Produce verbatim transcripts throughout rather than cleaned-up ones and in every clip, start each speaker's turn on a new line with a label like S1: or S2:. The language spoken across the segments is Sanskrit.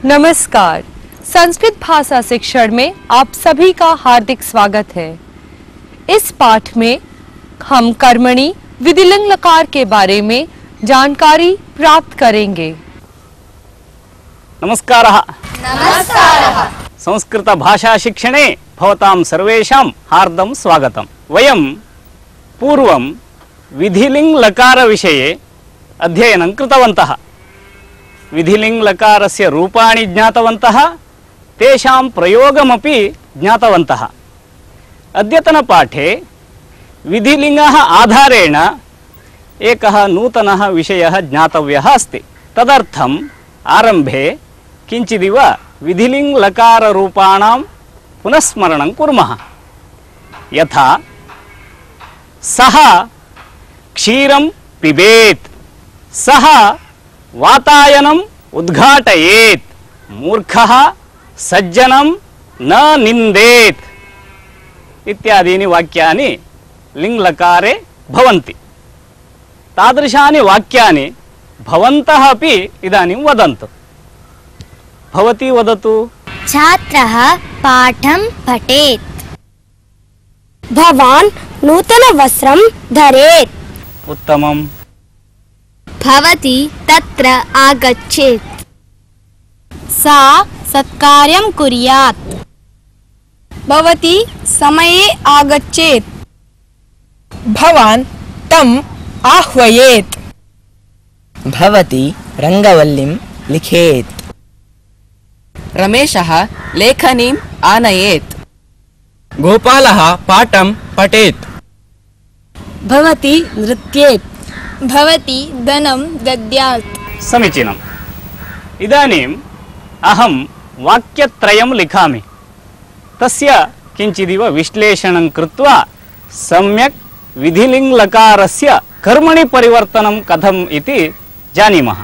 S1: नमस्कार। संस्कृत भाषा शिक्षण में आप सभी का हार्दिक स्वागत है। इस पाठ में हम कर्मणि विधिलिंग लकार के बारे में जानकारी प्राप्त करेंगे।
S2: नमस्कारः। नमस्कारः। संस्कृत भाषा शिक्षणे भवतां सर्वेषां हार्दं स्वागतम्। वयं पूर्वं विधिलिंग लकार विषये अध्ययनं कृतवन्तः। विधिलिंग लकारस्य रूपाणि ज्ञातवन्तः, तेषां प्रयोगमपि ज्ञातवन्तः। अद्यतनपाठे विधिलिंगः आधारेण एकः नूतनः विषयः ज्ञातव्यः अस्ति। तदर्थम् आरम्भे किञ्चिदिव विधिलिंग लकार रूपाणां पुनस्मरणं कुर्मः। यथा सः क्षीरं पिबेत्, सः वातायनम् उद्घाटयेत्, मूर्खः सज्जनं न निन्देत् इत्यादीनि वाक्यानि लिङ्लकारे भवन्ति। तादृशानि वाक्यानि भवन्तः अपि इदानीं वदन्तु। भवती वदतु।
S3: छात्रः पाठं पठेत्।
S4: भवान् नूतनवस्त्रं धरेत्।
S2: उत्तमम्।
S3: भवती तत्र आगच्छेत्।
S4: सा सत्कार्यं कुर्यात्। भवती समये आगच्छेत्।
S5: भवान् तम् आह्वयेत्।
S6: भवती रङ्गवल्लीं लिखेत्।
S7: रमेशः लेखनीम् आनयेत्।
S8: गोपालः पाठं पठेत्।
S4: भवती नृत्येत्। भवती धनं दद्यात्।
S2: समीचीनम्। इदानीम् अहं वाक्यत्रयं लिखामि। तस्य किञ्चिदिव विश्लेषणं कृत्वा सम्यक् विधिलिंग लकारस्य कर्मणि परिवर्तनं कथम् इति जानीमः।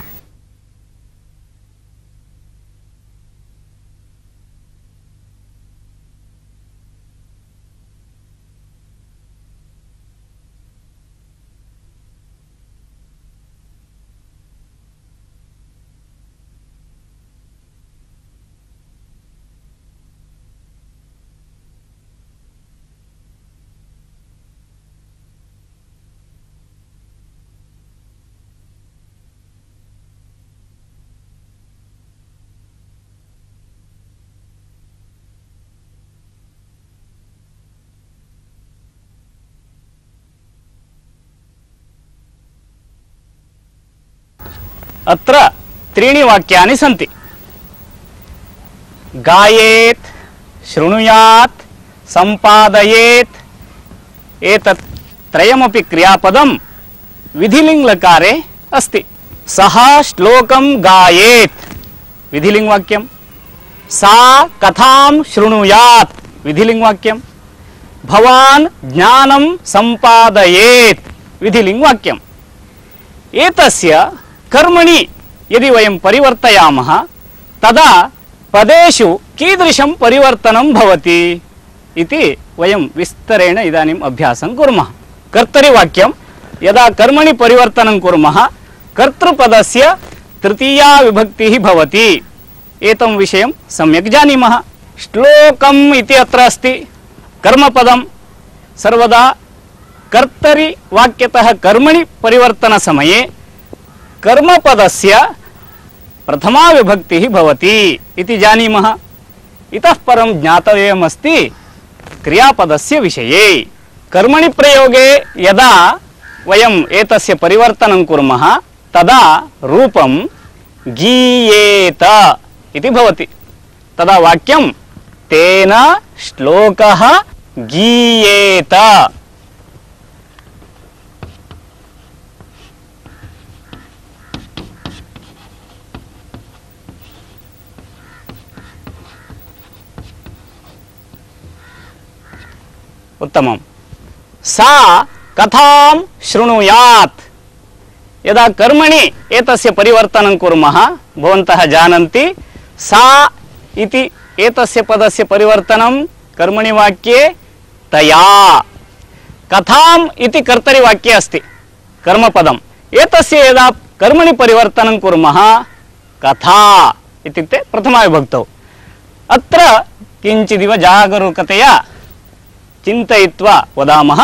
S2: अत्र त्रीणि वाक्यानि सन्ति। गायेत्, शृणुयात्, सम्पादयेत्। एतत् त्रयमपि क्रियापदं विधिलिंग लकारे अस्ति। सः श्लोकं गायेत् विधिलिंग वाक्यं, सा कथां शृणुयात् विधिलिंग वाक्यं, भवान् ज्ञानं सम्पादयेत् विधिलिंग वाक्यम्। एतस्य कर्मणि यदि वयं परिवर्तयामः तदा पदेषु कीदृशं परिवर्तनं भवति इति वयं विस्तरेण इदानीम् अभ्यासं कुर्मः। कर्तरिवाक्यं यदा कर्मणि परिवर्तनं कुर्मः कर्तृपदस्य तृतीया विभक्तिः भवति। एतं विषयं सम्यक् जानीमः। श्लोकम् इति अत्र अस्ति कर्मपदं। सर्वदा कर्तरि वाक्यतः कर्मणि परिवर्तनसमये कर्मपदस्य प्रथमा विभक्तिः भवति इति जानीमः। इतः परं ज्ञातव्यमस्ति क्रियापदस्य विषये। कर्मणि प्रयोगे यदा वयम् एतस्य परिवर्तनं कुर्मः तदा रूपं गीयेत इति भवति। तदा वाक्यं तेन श्लोकः गीयेत। उत्तमं। सा कथां शृणुयात्। यदा कर्मणि एतस्य परिवर्तनं कुर्मः भवन्तः जानन्ति सा इति एतस्य पदस्य परिवर्तनं कर्मणि वाक्ये तया। कथाम् इति कर्तरि वाक्ये अस्ति कर्मपदम्, एतस्य यदा कर्मणि परिवर्तनं कुर्मः कथा इत्युक्ते प्रथमाविभक्तौ। अत्र किञ्चिदिव जागरूकतया चिन्तयित्वा वदामः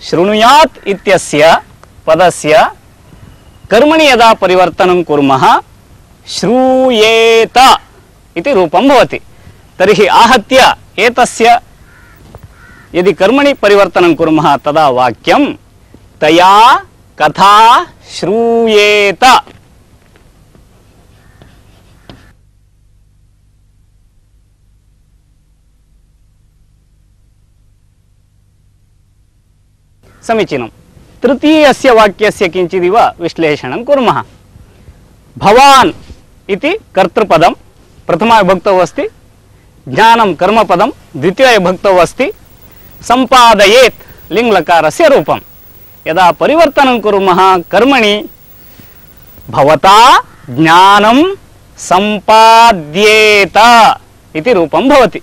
S2: शृणुयात् इत्यस्य पदस्य कर्मणि यदा परिवर्तनं कुर्मः श्रूयेत इति रूपं भवति। तर्हि आहत्य एतस्य यदि कर्मणि परिवर्तनं कुर्मः तदा वाक्यं तया कथा श्रूयेत। समीचीनं। तृतीयस्य वाक्यस्य किञ्चिदिव विश्लेषणं कुर्मः। भवान् इति कर्तृपदं प्रथमाविभक्तौ अस्ति, ज्ञानं कर्मपदं द्वितीयविभक्तौ अस्ति, सम्पादयेत् लिङ्लकारस्य रूपं। यदा परिवर्तनं कुर्मः कर्मणि भवता ज्ञानं सम्पाद्येत इति रूपं भवति।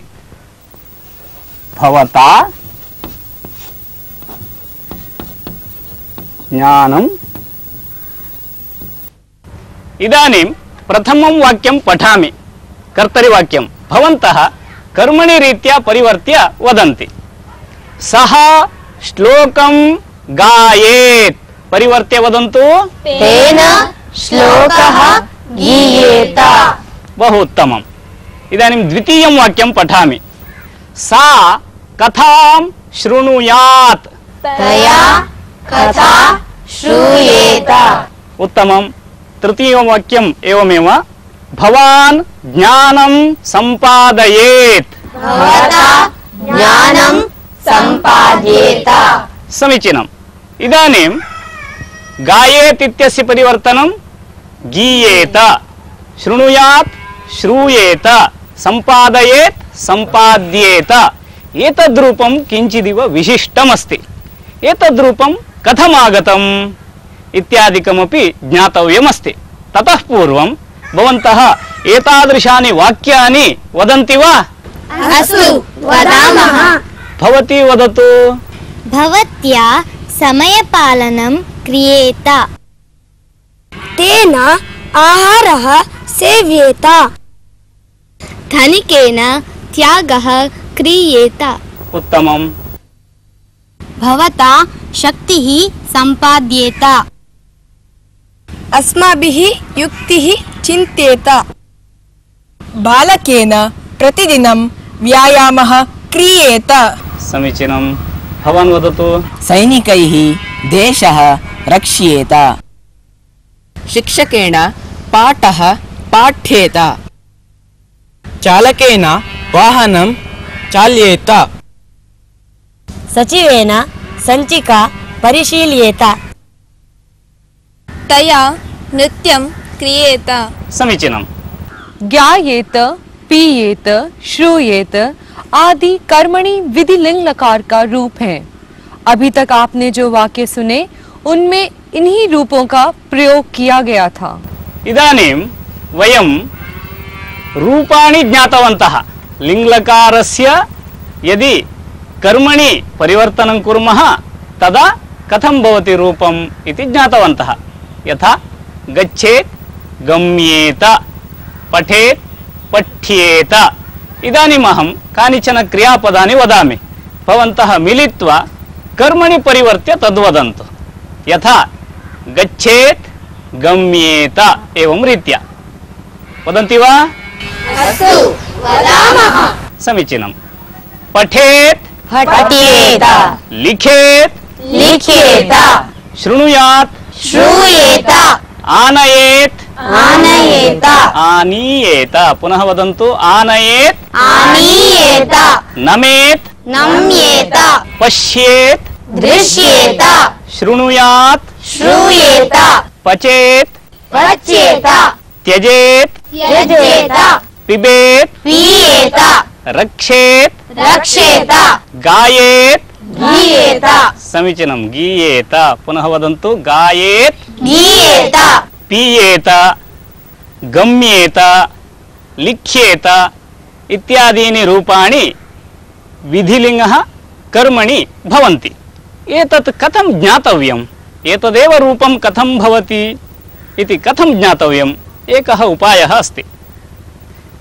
S2: भवता ज्ञानम्। इदानीं प्रथमं वाक्यं पठामि, कर्तरि वाक्यं भवन्तः कर्मणि रीत्या परिवर्त्य वदन्ति। सः श्लोकं गायेत्। परिवर्त्य वदन्तु।
S3: तेन श्लोकः गीयेत।
S2: बहु उत्तमम्। इदानीं द्वितीयं वाक्यं पठामि। सा कथां शृणुयात्।
S3: तया कथा श्रूयेत।
S2: उत्तमं। तृतीयं वाक्यम् एवमेव। भवान् ज्ञानं सम्पादयेत्।
S3: भवता ज्ञानं सम्पाद्येत।
S2: समीचीनम्। इदानीं गायेत् इत्यस्य परिवर्तनं गीयेत, शृणुयात् श्रूयेत, सम्पादयेत् सम्पाद्येत। एतद्रूपं किञ्चिदिव विशिष्टमस्ति। एतद्रूपं कथमागतम् इत्यादिकमपि ज्ञातव्यमस्ति। ततः पूर्वं भवन्तः एतादृशानि वाक्यानि वदन्ति वा?
S3: अस्तु, वदामः।
S2: भवती वदतु।
S3: भवत्या समयपालनं क्रियेत। तेन आहारः सेव्येत। धनिकेन त्यागः क्रियेत।
S2: उत्तमम्।
S4: भवता शक्तिः सम्पाद्येत।
S5: अस्माभिः युक्तिः चिन्त्येत। बालकेन प्रतिदिनं व्यायामः क्रियेत।
S2: समीचीनं। भवान् वदतु।
S6: सैनिकैः देशः रक्ष्येत।
S7: शिक्षकेन पाठः पाठ्येत।
S8: चालकेन वाहनं चाल्येत।
S4: सचिवेन सञ्चिका परिशील्येत। तया नृत्यं क्रियेत।
S2: समीचीनं।
S1: ज्ञायेत, पीयेत, श्रूयेत आदि कर्मणि विधि लिंग लकार का रूप है। अभी तक आपने जो वाक्य सुने उनमें इन्हीं रूपों का प्रयोग किया गया था।
S2: इदानीं वयं रूपाणि ज्ञातवन्तः। लिङ्लकारस्य यदि कर्मणि परिवर्तनं कुर्मः तदा कथं भवति रूपम् इति ज्ञातवन्तः। यथा गच्छेत् गम्येत, पठेत् पठ्येत। इदानीम् अहं कानिचन क्रियापदानि वदामि, भवन्तः मिलित्वा कर्मणि परिवर्त्य तद्वदन्तु। यथा गच्छेत् गम्येत एवं रीत्या वदन्ति वा?
S3: अस्तु, वदामः।
S2: समीचीनं। पठेत्
S3: पठ्येत।
S2: लिखेत्
S3: लिख्येत।
S2: शृणुयात्
S3: श्रूयेत।
S2: आनयेत्
S3: आनयेत।
S2: आनीयेत। पुनः वदन्तु। आनयेत्
S3: आनीयेत।
S2: नमेत्
S3: नम्येत।
S2: पश्येत्
S3: दृश्येत।
S2: शृणुयात्
S3: श्रूयेत।
S2: पचेत्
S3: पच्येत।
S2: त्यजेत्
S3: त्यजेत।
S2: पिबेत्
S3: पीयेत।
S2: रक्षेत्
S3: रक्षेत।
S2: गायेत्
S3: गीयेत
S2: समीचीनं गीयेत पुनः वदन्तु गायेत्
S3: गीयेत
S2: पीयेत गम्येत लिख्येत इत्यादीनि रूपाणि विधिलिङ्गः कर्मणि भवन्ति। एतत् कथं ज्ञातव्यम् एतदेव रूपं कथं भवति इति कथं ज्ञातव्यम् एकः उपायः अस्ति।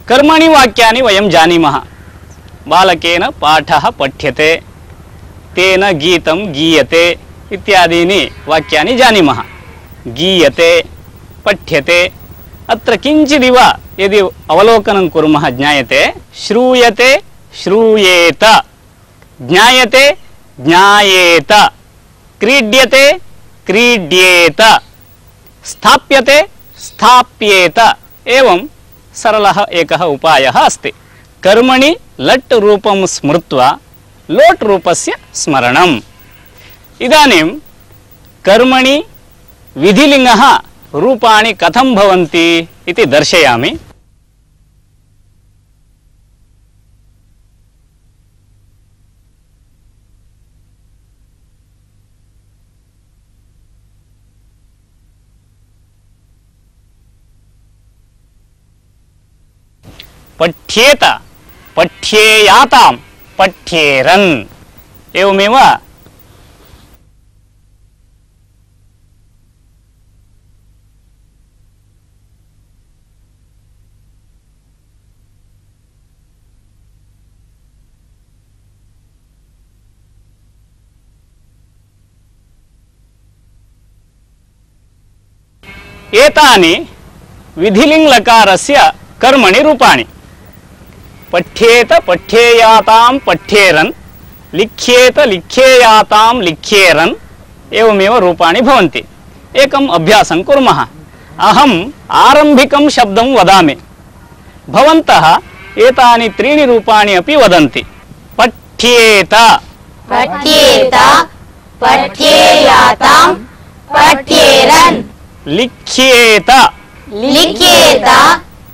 S2: कर्मणि वाक्यानि वयं जानीमः। बालकेन पाठः पठ्यते तेन गीतं गीयते इत्यादीनि वाक्यानि जानीमः। गीयते पठ्यते अत्र किञ्चिदिव यदि अवलोकनं कुर्मः ज्ञायते श्रूयते श्रूयेत ज्ञायते ज्ञायेत क्रीड्यते क्रीड्येत स्थाप्यते स्थाप्येत एवं सरलः एकः उपायः अस्ति। कर्मणि लट् रूपं स्मृत्वा लोट् रूपस्य स्मरणम्। इदानीं कर्मणि विधिलिङ्गः रूपाणि कथं भवन्ति इति दर्शयामि। पठ्येत पठ्येयातां पठ्येरन् एवमेव एतानि विधिलिङ् लकारस्य कर्मणि रूपाणि। पठ्येत पठ्येयातां पठ्येरन् लिख्येत लिख्येयातां लिख्येरन् एवमेव रूपाणि भवन्ति। एकम् अभ्यासं कुर्मः। अहम् आरम्भिकं शब्दं वदामि भवन्तः एतानि त्रीणि रूपाणि अपि वदन्ति। पठ्येत
S3: पठ्येत पठ्येयातां पठ्येरन्
S2: लिख्येत
S3: लिख्येत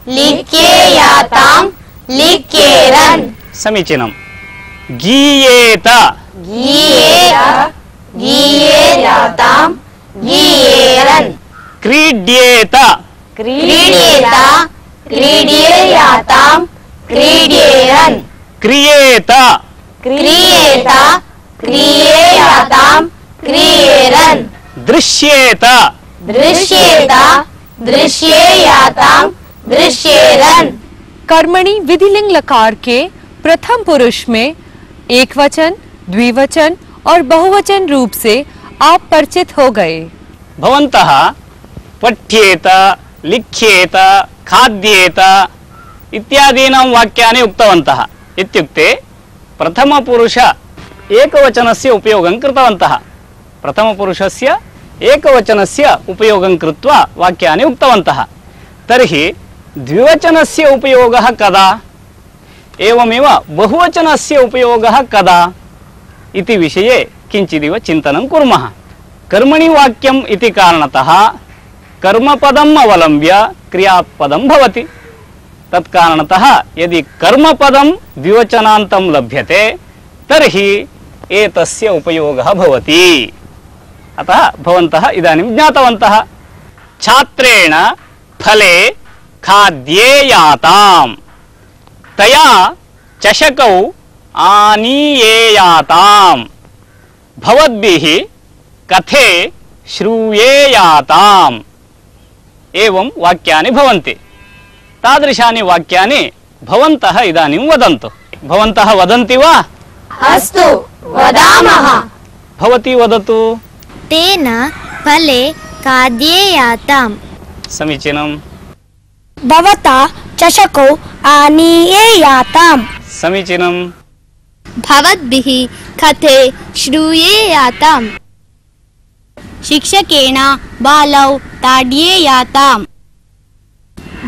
S3: लिख्येयातां लिख्येरन्
S2: समीचीनं गीयेत
S3: गीयेत गीयेयातां गीयेरन्
S2: क्रीड्येत
S3: क्रीड्येत क्रीड्येयातां क्रीड्येरन्
S2: क्रियेत
S3: क्रियेत क्रियेयातां क्रियेरन्
S2: दृश्येत
S3: दृश्येत दृश्येयातां दृश्येरन्।
S1: कर्मणि विधिलिंग लकार के प्रथम पुरुष में एक वचन, द्विवचन और बहुवचन रूप से आप परिचित हो गए।
S2: भवन्तः पठ्येत लिख्येत खाद्येत इत्यादीनां वाक्यानि उक्तवन्तः। इत्युक्ते प्रथमपुरुष एकवचनस्य उपयोगं कृतवन्तः। प्रथमपुरुषस्य एकवचनस्य उपयोगं कृत्वा वाक्यानि उक्तवन्तः। तर्हि द्विवचनस्य उपयोगः कदा एवमेव बहुवचनस्य उपयोगः कदा इति विषये किञ्चिदिव चिन्तनं कुर्मः। कर्मणि वाक्यम् इति कारणतः कर्मपदम् अवलम्ब्य क्रियापदं भवति। तत्कारणतः यदि कर्मपदं द्विवचनान्तं लभ्यते तर्हि एतस्य उपयोगः भवति। अतः भवन्तः इदानीं ज्ञातवन्तः। छात्रेण फले खाद्येयातां तया चषकौ आनीयेयातां भवद्भिः कथे श्रूयेयाताम् एवं वाक्यानि भवन्ति। तादृशानि वाक्यानि भवन्तः इदानीं वदन्तु। भवन्तः वदन्ति वा?
S3: अस्तु वदामः।
S2: भवती वदतु।
S4: तेन फले खाद्येयाताम्
S2: समीचीनं।
S4: भवता चषकौ आनीयेयाताम्
S2: समीचीनं।
S4: भवद्भिः कथे श्रूयेयाताम् शिक्षकेन बालौ ताड्येयाताम्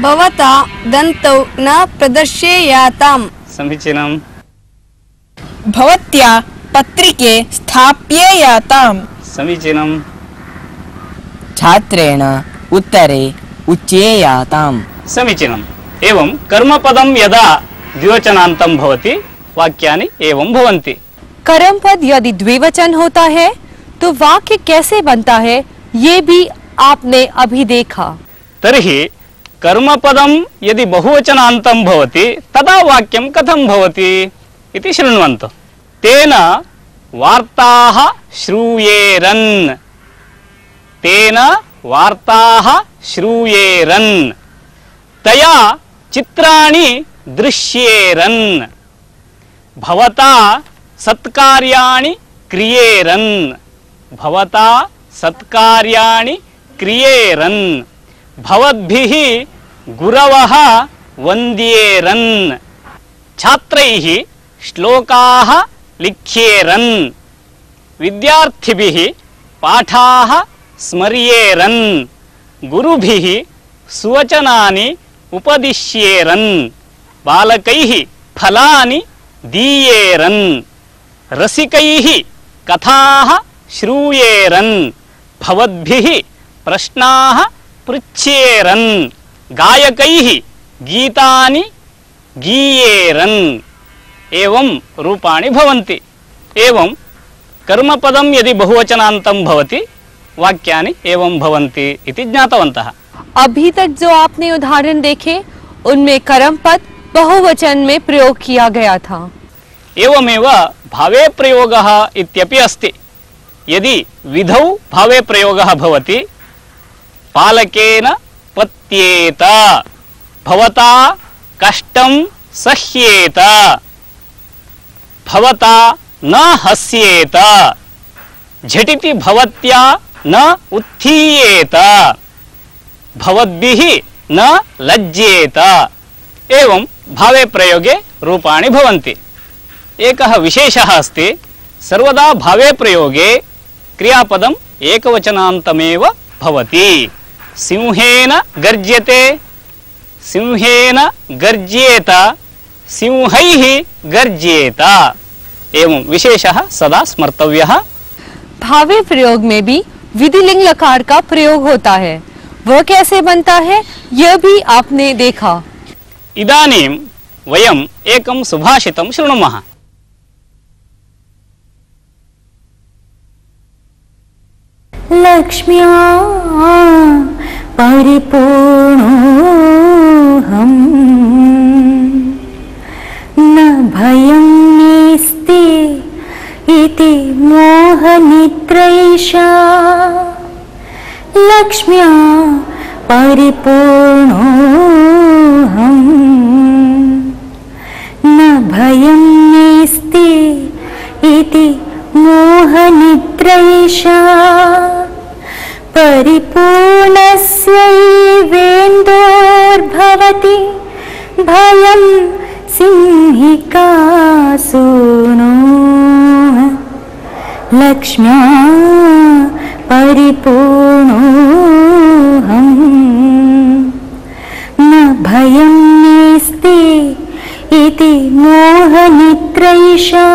S5: भवता दन्तौ न प्रदर्शेयाताम्
S2: समीचीनं।
S5: भवत्या पत्रिके स्थाप्येयाताम्
S2: समीचीनं।
S6: छात्रेण उत्तरे उच्येयाताम्
S2: समीचीनम्। एवं कर्मपदं यदा द्विवचनान्तं भवति वाक्यानि एवं भवन्ति।
S1: कर्म पद यदि द्विवचन होता है तो वाक्य कैसे बनता है ये भी आपने अभी देखा।
S2: तर्हि कर्मपदं यदि बहुवचनान्तं भवति तदा वाक्यं कथं भवति इति शृण्वन्तु। तेन वार्ताः श्रूयेरन्, तेन वार्ताः श्रूयेरन्, तया चित्राणि दृश्येरन्, भवता सत्कार्याणि क्रियेरन्, भवता सत्कार्याणि क्रियेरन्, भवद्भिः गुरवः वन्द्येरन्, छात्रैः श्लोकाः लिख्येरन्, विद्यार्थिभिः पाठाः स्मर्येरन्, गुरुभिः सुवचनानि उपदिश्येरन्, बालकैः फलानि दीयेरन्, रसिकैः कथाः श्रूयेरन्, भवद्भिः प्रश्नाः पृच्छ्येरन्, गायकैः गीतानि गीयेरन्। एवं रूपाणि भवन्ति। एवं कर्मपदं यदि बहुवचनान्तं भवति वाक्यानि एवं भवन्ति इति ज्ञातवन्तः।
S1: अभी तक जो आपने उदाहरण देखे उनमें कर्म पद बहुवचन में प्रयोग किया गया था।
S2: एवमेव भावे प्रयोगः इत्यपि अस्ति। यदि विधौ भावे प्रयोगः भवति पालकेन पत्येत, भवता कष्टं सह्येत, भवता न हस्येत, झटिति भवत्या न उत्थीयेत, भवद्भिः न लज्जेत। एवं भावे प्रयोगे रूपाणि भवन्ति। एकः विशेषः अस्ति, सर्वदा भावे प्रयोगे क्रियापदम् एकवचनान्तमेव भवति। सिंहेन गर्ज्यते, सिंहेन गर्ज्येत, सिंहैः गर्ज्येत। एवं विशेषः सदा स्मर्तव्यः।
S1: भावे प्रयोग में भी विधिलिंग लकार का प्रयोग होता है, वह कैसे बनता है यह भी आपने देखा।
S2: इदानीं वयम् एकं सुभाषितं शृणुमः।
S3: लक्ष्म्या परिपूर्णोऽहम्, न भयं नेस्ति इति मोहनिद्रैषा। लक्ष्म्या परिपूर्णोऽहम्, न भयं नेस्ति इति मोहनिद्रैषा। परिपूर्णस्यैवेन्दोर्भवति भयं सिंहिकासूनो। लक्ष्म्या परिपूर्णोऽहम्, न भयं नेस्ति इति मोहनिद्रैषा।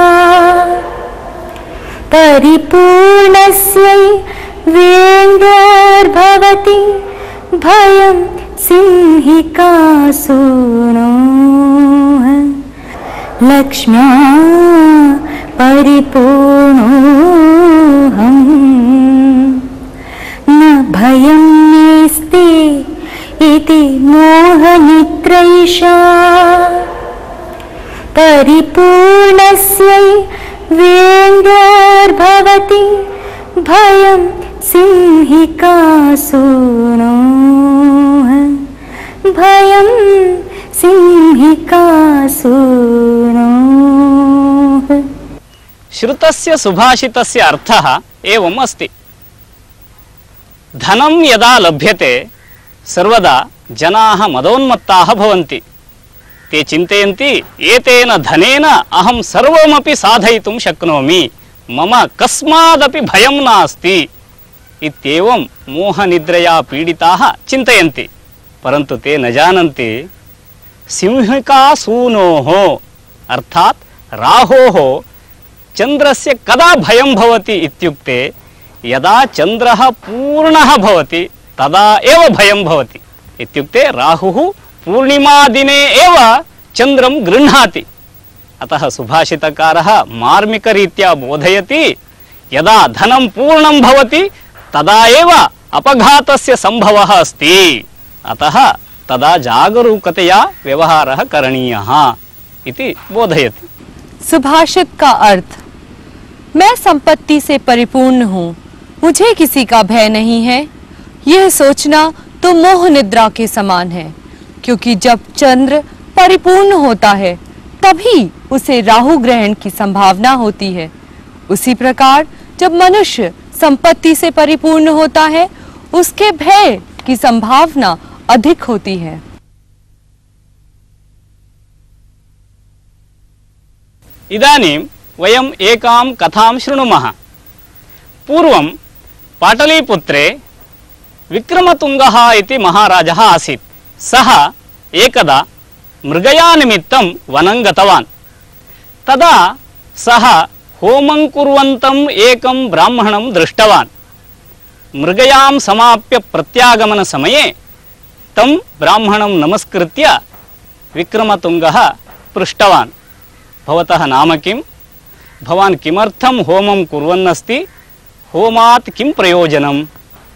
S3: परिपूर्णस्यैवेन्दोर्भवति भयं सिंहिकासूनो। लक्ष्म्या परिपूर्णोऽहम्, न भयं नेस्ति इति मोहनिद्रैषा। परिपूर्णस्यैवेन्दोर्भवति भयं सिंहिकासूनो। भयं सिंहिकासूनो।
S2: श्रुतस्य सुभाषितस्य अर्थः एवम् अस्ति। धनं यदा लभ्यते सर्वदा जनाः मदोन्मत्ताः भवन्ति। ते चिन्तयन्ति एतेन धनेन अहं सर्वमपि साधयितुं शक्नोमि, मम कस्मादपि भयं नास्ति इत्येवं मोहनिद्रया पीडिताः चिन्तयन्ति। परन्तु ते न जानन्ति सिंहिकासूनोः अर्थात् राहोः चन्द्रस्य कदा भयं भवति इत्युक्ते यदा चन्द्रः पूर्णः भवति तदा एव भयं भवति। इत्युक्ते राहुः पूर्णिमादिने एव चन्द्रं गृह्णाति। अतः सुभाषितकारः मार्मिकरीत्या बोधयति यदा धनं पूर्णं भवति तदा एव अपघातस्य संभवः अस्ति। अतः तदा जागरूकतया व्यवहारः करणीयः इति बोधयति।
S1: सुभाषित का अर्थ, मैं संपत्ति से परिपूर्ण हूँ, मुझे किसी का भय नहीं है, यह सोचना तो मोह निद्रा के समान है, क्योंकि जब चंद्र परिपूर्ण होता है तभी उसे राहु ग्रहण की संभावना होती है। उसी प्रकार जब मनुष्य संपत्ति से परिपूर्ण होता है उसके भय की संभावना अधिक होती है।
S2: इदानीं वयम् एकां कथां शृणुमः। पूर्वं पाटलीपुत्रे विक्रमतुङ्गः इति महाराजः आसीत्। सः एकदा मृगयानिमित्तं वनं गतवान्। तदा सः होमं कुर्वन्तम् एकं ब्राह्मणं दृष्टवान्। मृगयां समाप्य प्रत्यागमनसमये तं ब्राह्मणं नमस्कृत्य विक्रमतुङ्गः पृष्टवान्, भवतः नाम किं? भवान् किमर्थं होमं कुर्वन्नस्ति? होमात् किं प्रयोजनम्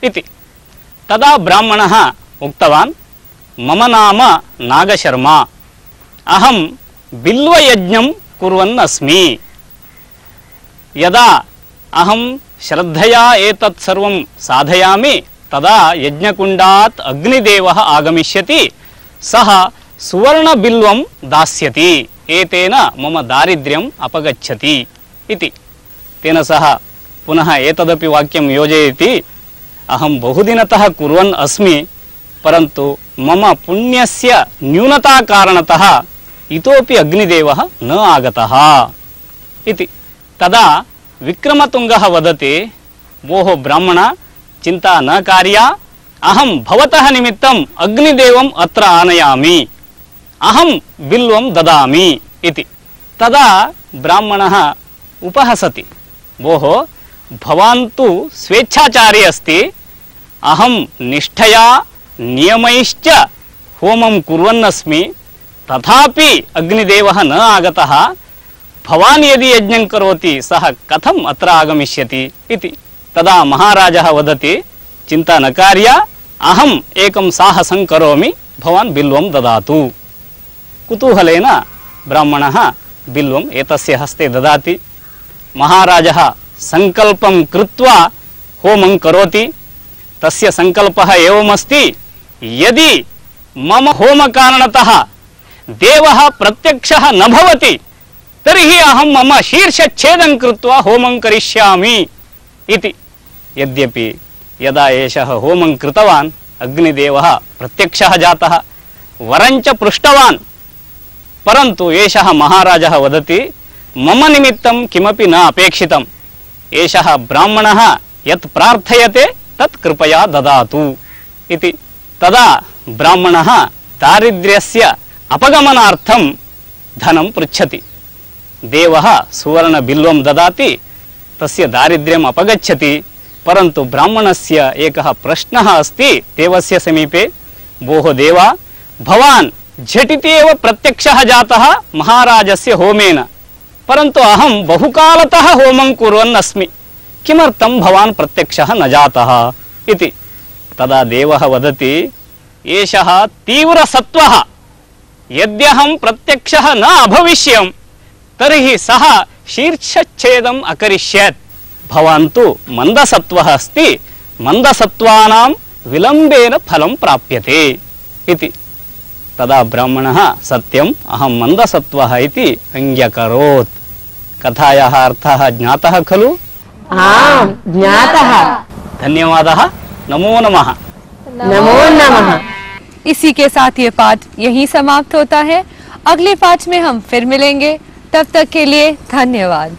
S2: इति। तदा ब्राह्मणः उक्तवान्, मम नाम नागशर्मा, अहं बिल्वयज्ञं कुर्वन् अस्मि। यदा अहं श्रद्धया एतत् सर्वं साधयामि तदा यज्ञकुण्डात् अग्निदेवः आगमिष्यति, सः सुवर्णबिल्वं दास्यति, एतेन मम दारिद्र्यम् अपगच्छति इति। तेन सह पुनः एतदपि वाक्यं योजयति, अहं बहुदिनतः कुर्वन् अस्मि, परन्तु मम पुण्यस्य न्यूनता कारणतः इतोपि अग्निदेवः न आगतः इति। तदा विक्रमतुङ्गः वदति, भोः ब्राह्मण, चिन्ता न कार्या, अहं भवतः निमित्तम् अग्निदेवम् अत्र आनयामि, अहं बिल्वं ददामि इति। तदा ब्राह्मणः उपहसति, भोः भवान् तु स्वेच्छाचारी अस्ति, अहं निष्ठया नियमैश्च होमं कुर्वन्नस्मि, तथापि अग्निदेवः न आगतः, भवान् यदि यज्ञं करोति सः कथम् अत्र आगमिष्यति इति। तदा महाराजः वदति, चिन्ता न कार्या, अहम् एकं साहसं करोमि, भवान् बिल्वं ददातु। कुतूहलेन ब्राह्मणः बिल्वम् एतस्य हस्ते ददाति। महाराजः संकल्पं कृत्वा होमं करोति। तस्य संकल्पः एवमस्ति, यदि मम होमकारणतः देवः प्रत्यक्षः न भवति तर्हि अहं मम शीर्षच्छेदं कृत्वा होमं करिष्यामि इति। यद्यपि यदा एषः होमं कृतवान् अग्निदेवः प्रत्यक्षः जातः, वरञ्च पृष्टवान्, परन्तु एषः महाराजः वदति, मम निमित्तं किमपि न अपेक्षितम्, एषः ब्राह्मणः यत् प्रार्थयते तत् कृपया ददातु इति। तदा ब्राह्मणः दारिद्र्यस्य अपगमनार्थं धनं पृच्छति। देवः सुवर्णबिल्वं ददाति, तस्य दारिद्र्यम् अपगच्छति, परन्तु ब्राह्मणस्य एकः प्रश्नः अस्ति देवस्य समीपे, भोः देव, भवान् झटिति एव प्रत्यक्षः जातः महाराजस्य होमेन, परन्तु अहं बहुकालतः होमं कुर्वन् अस्मि, किमर्थं भवान् प्रत्यक्षः न जातः इति। तदा देवः वदति, एषः तीव्रसत्त्वः, यद्यहं प्रत्यक्षः न अभविष्यं तर्हि सः शीर्षच्छेदम् अकरिष्यत्, भवान् तु मन्दसत्त्वः अस्ति, मन्दसत्त्वानां विलम्बेन फलं प्राप्यते इति। तदा ब्राह्मणः सत्यम् अहं मन्दसत्त्वः इति अङ्ग्यकरोत्। कथायाः अर्थः ज्ञातः खलु?
S9: आम्, ज्ञातः।
S2: धन्यवादः। नमो नमः।
S9: नमो नमः।
S1: इसी के साथ ये पाठ यहीं समाप्त होता है। अगले पाठ में हम फिर मिलेंगे, तब तक के लिए धन्यवाद।